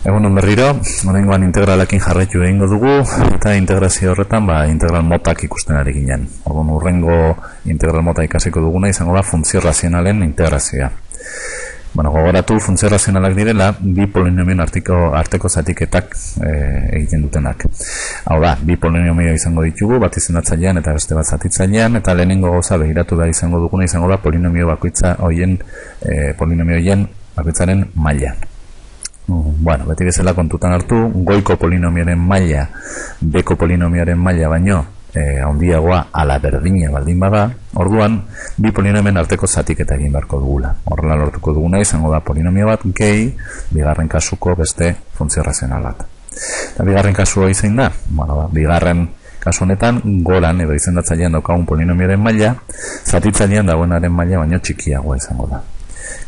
Egunon berriro, oraingoan integralekin jarraitu egingo dugu, eta integrazio horretan integral motak ikusten ari ginen. Orduan hurrengo integral mota ikasiko duguna izango da funtzio razionalen integrazioa. Gogoratu funtzio razionalak direla, bi polinomioen arteko zatiketak egiten dutenak. Hau da, bi polinomio izango ditugu, bat izendatzailean eta beste bat zatitzailean, eta lehenengo gauza begiratu da izango duguna izango da polinomio bakoitza polinomioien bakoitzaren maila. Beti bezala kontutan hartu, goiko polinomioaren maila, beko polinomioaren maila baino handiagoa ala berdina baldin bada, orduan bi polinomioen arteko zatiketa egin beharko dugula. Horrela lortuko duguna izango da polinomio bat gehi bigarren kasuko beste funtzio razional bat. Eta bigarren kasua izan da, bigarren kasu honetan goran edo izendatzailean daukagun polinomioaren maila, zatitzailean dagoenaren maila baino txikiagoa izango da.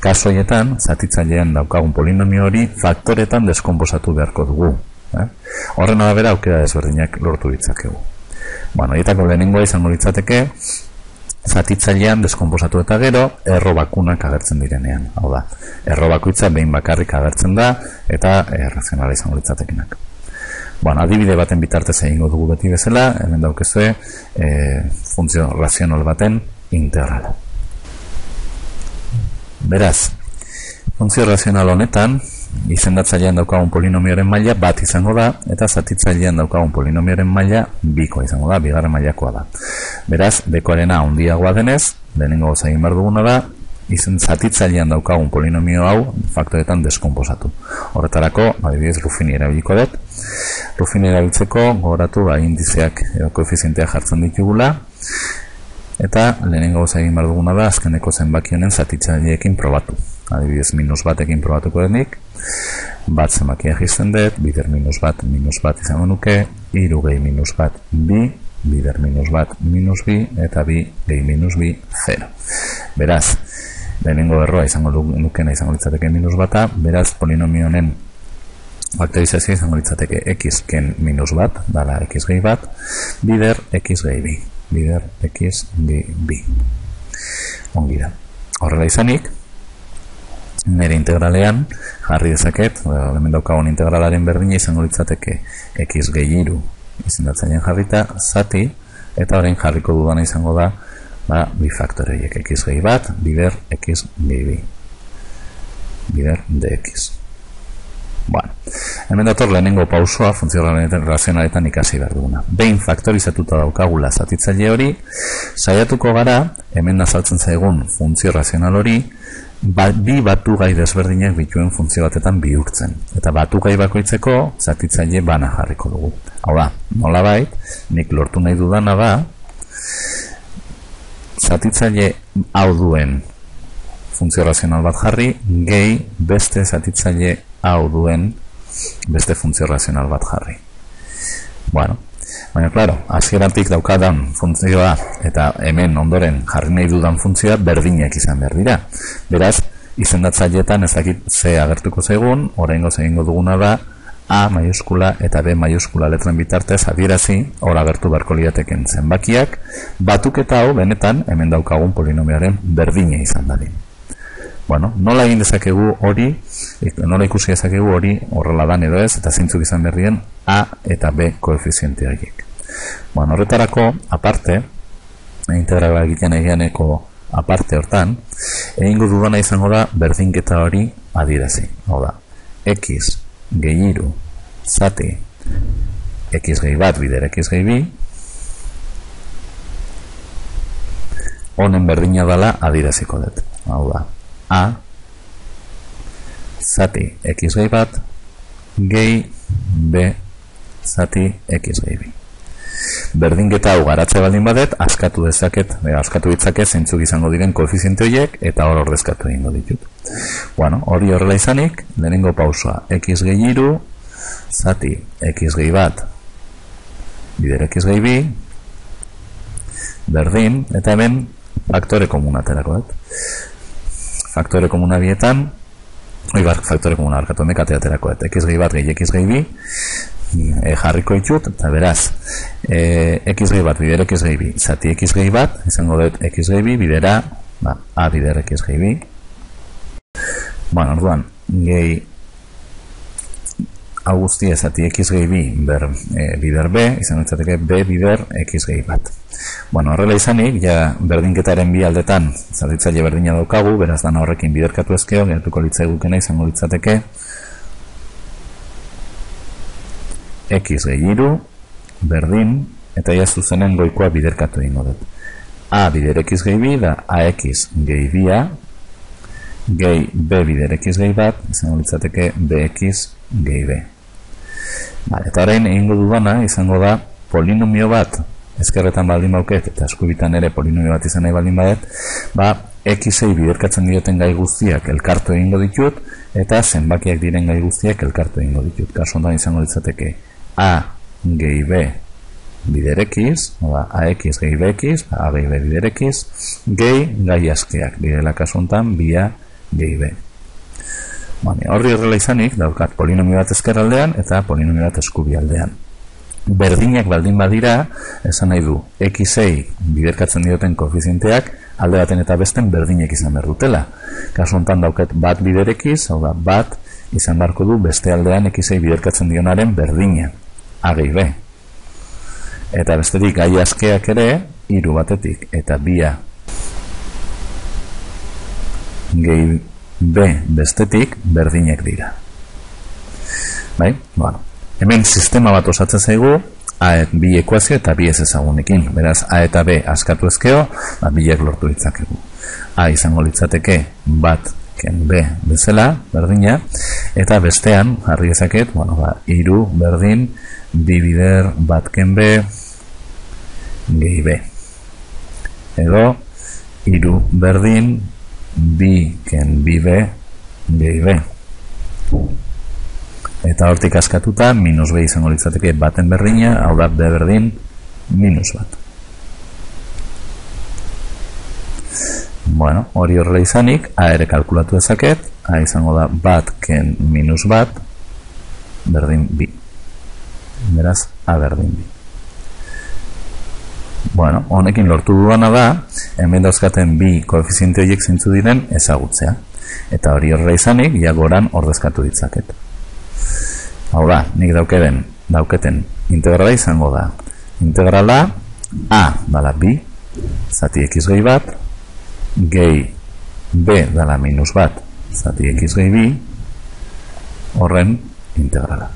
Kasu horietan, zatitzailean daukagun polinomio hori faktoretan deskonposatu beharko dugu. Horren arabera aukera desberdinak lortu ditzakegu. Horietako lehenengoa izango litzateke, zatitzailean deskonposatu eta gero, erro bakunak agertzen direnean. Hau da, erro bakoitza behin bakarrik agertzen da, eta razionala izango litzatekenak. Adibide baten bitartez egingo dugu beti bezala, hemen daukezue funtzio razional baten integrala. Beraz, funtzio razional honetan, izendatzailean daukagun polinomioaren maila bat izango da, eta zatitzailean daukagun polinomioaren maila bikoa izango da, bigarren mailakoa da. Beraz, bekoarena handiagoa denez, lehenengo gauza egin behar duguna da, zatitzailean daukagun polinomio hau faktoretan deskonposatu. Horretarako, adibidez, Ruffini erabiliko dut. Ruffini erabiltzeko, gogoratu, indizeak edo koefizienteak jartzen ditugula, eta lehenengo gauza egin behar duguna da azkeneko zenbaki honen zatitzaileekin probatu. Adibidez, -batekin probatuko denik, bat zenbakia jizten dut, bider -bat izango nuke, 3 gehi -bat, bi, bider -bat, -bi, eta bi gehi -bi, 0. Beraz, lehenengo erroa izango nukena izango litzateke -bata, beraz, polinomio honen faktorizazioa izango litzateke x ken -bat, dala x gehi bat, bider x gehi bi. Bider x gehi bi. Ongi da. Horrela izanik, nire integralean jarri dezaket, hemen daukagun integralaren berdina izango litzateke x gehi iru izendatzailean jarrita, zati, eta orain jarriko dudana izango da bi faktore horiek, x gehi bat, bider x gehi bi. Bider dx. Hemen dator lehenengo pausoa funtzio razionaletan ikasi behar duguna. Behin faktorizatuta daukagula zatitzaile hori, saiatuko gara, hemen azaltzen zaigun funtzio razional hori, bi batugai desberdinak bituen funtzio batetan bihurtzen. Eta batugai bakoitzeko zatitzaile bana jarriko dugu. Hau da, nolabait, nik lortu nahi dudana da, zatitzaile hau duen funtzio razional bat jarri, gehi beste zatitzaile hau duen beste funtzio razional bat jarri. Baina, klaro, hasieratik daukadan funtzioa eta hemen ondoren jarri nahi dudan funtzioa berdinak izan behar dira. Beraz, izendatzaileetan ezakit ze agertuko zaigun, oraingoz egingo duguna da A maiuskula eta B maiuskula letren bitartez adierazi hor agertu beharko lirateken zenbakiak, batuketa hau benetan hemen daukagun polinomioaren berdina izan dadin. Nola egin dezakegu hori, nola ikusi dezakegu hori horrela dan edo ez, eta zeintzuk izan berrien A eta B koefiziente horiek. Horretarako, aparte, integrala egiten egianeko aparte hortan, egingo dudana izango da berdinketa hori adierazi. Hau da, x gehi iru zati x gehi bat bider x gehi bi, honen berdina dela adieraziko dut. Hau da, A zati x gehi bat gehi B zati x gehi bi. Berdinketa hau garatze baldin badet, askatu ditzaket zeintzuk izango diren koefiziente horiek eta hor ordezkatu egingo ditut. Hori horrela izanik, lehenengo pausoa x gehi iru zati x gehi bat bider x gehi bi berdin, eta hemen faktore komuna aterako dut. Faktore komuna bietan, faktore komuna barkatu mekate aterako dut, x gehi bat gehi x gehi bi, jarriko ditut, eta beraz, x gehi bat bider x gehi bi, zati x gehi bat, izango dut x gehi bi, bidera, a bider x gehi bi. Orduan, gehi hau guztia zati x gehi bi bider b, izango litzateke b bider x gehi bat. Bueno, horrela izanik, ja berdinketaren bi aldetan zerritzaile berdina daukagu, beraz dana horrekin biderkatu ezkeo, geratuko litzaigukena izango litzateke x gehi iru, berdin, eta ja zuzenen goikoa biderkatu egingo dut. A bider x gehi bi da ax gehi bia, gehi b bider x gehi bat, izango litzateke bx gehi b. Eta orain egingo dudana izango da polinomio bat, ezkerretan baldin bauket, eta eskubitan ere polinomio bat izan nahi baldin badet, x-ei biderkatzen dioten gai guztiak elkartu egingo ditut, eta zenbakiak diren gai guztiak elkartu egingo ditut. Kasu honetan izango litzateke a gehi b bider x, ax gehi bx, a gehi b bider x, gehi gai askeak, direla kasu honetan bia gehi b. Horri horrela izanik, daukat polinomio bat ezkerraldean eta polinomio bat eskubialdean. Berdinak baldin badira, esan nahi du, x-ei biderkatzen dioten koefizienteak alde baten eta besten berdinek izan behar dutela. Kasu honetan daukat bat bider x, hau da, bat izan beharko du beste aldean x-ei biderkatzen dionaren berdina, a gehi b. Eta bestetik gai askeak ere, hiru batetik eta bia gehi b bestetik berdinek dira. Bai? Bueno. Hemen sistema bat osatzen zaigu bi ekuazio eta bi ez ezagunekin. Beraz, a eta b askatu ezkeo, biak lortu ditzakegu. A izango litzateke bat ken b bezala, berdina, eta bestean, jarri ezaket, hiru berdin, bi bider bat ken b gehi b. Edo, hiru berdin, bi ken bi b gehi b. Eta hortik askatuta, minus b izango litzateke baten berdina, hau da b berdin, minus bat. Bueno, hori horrela izanik, a ere kalkulatu ezaket, a izango da bat ken minus bat, berdin bi. Beraz, a berdin bi. Bueno, honekin lortu duana da, hemen dauzkaten bi koefiziente horiek zeintzu diren ezagutzea. Eta hori horrela izanik, jagoran ordezkatu ditzaket. Hau da, nik dauketen integrala izango da. Integrala a dala bi, zati x gehi bat, gehi b dala minus bat, zati x gehi bi, horren integrala.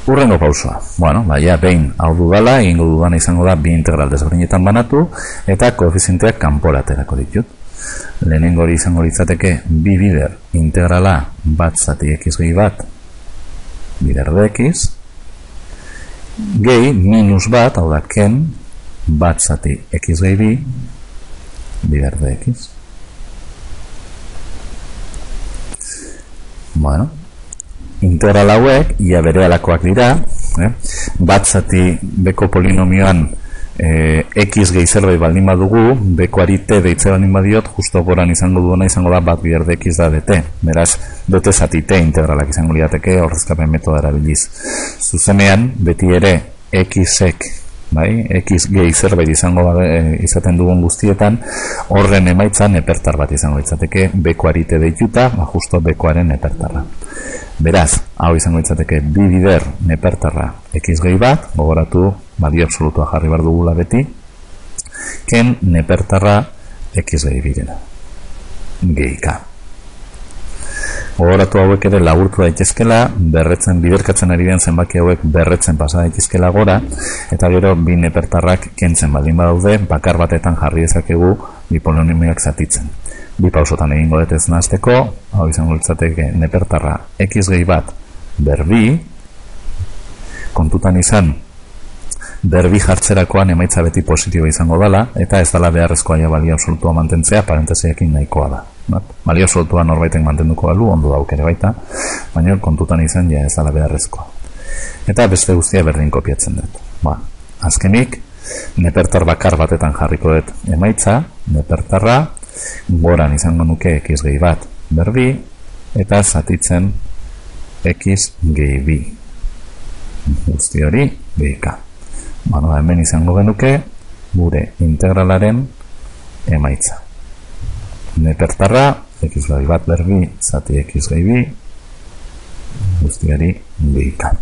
Urrengo pausoa. Bueno, behin hau dudala, egingo dudana izango da bi integral desberdinetan banatu, eta koefizienteak kanpora aterako ditut. Lehenengo hori izango litzateke bi bider integrala bat zati x gehi bat bider dx, gehi minus bat, hau da ken, bat zati x gehi bi bider dx. Bueno, integral hauek ia berealakoak dira, bat zati beko polinomioan x gehi zerbait baldin badugu, bekoari t deitze baldin badiot, justo goran izango duena izango da bat bider dx da dt. Beraz, dt zati t integralak izango liateke ordezkapen metoda erabiliz. Zuzenean, beti ere x-ek, x gehi zerbait izango izaten dugun guztietan, horren emaitzan nepertar bat izango litzateke, bekoari t deituta, justo bekoaren nepertarra. Beraz, hau izango litzateke bi bider nepertarra x gehi bat, gogoratu badio absolutua jarri behar dugula beti, ken nepertarra x gehi birena, gehi k. Gogoratu hauek ere laburtu daitezkela, berretzen, biderkatzen ari den zenbaki hauek berretzen pasa daitezkela gora, eta gero bi nepertarrak kentzen baldin badaude, bakar batetan jarri ezakegu bi polinomioak zatitzen. Bi pausotan egingo dut ez nahazteko, hau izango litzateke nepertarra x gehi bat berbi, kontutan izan berbi jartzerakoan emaitza beti positibo izango dela, eta ez dela beharrezkoa ja balio absolutua mantentzea, parentesiekin nahikoa da. Balio absolutua norbaitek mantenduko balu, ondo dauk ere baita, baina kontutan izan ja ez dela beharrezkoa. Eta beste guztia berdin kopiatzen dut. Azkenik, nepertar bakar batetan jarriko dut emaitza, nepertarra, goran izango nuke x gehi bat berbi, eta zatitzen x gehi bi. Guzti hori, gehi k. Hemen izango genuke gure integralaren emaitza. Nepertarra, x gehi bat berbi, zati x gehi bi, guztiari bihika.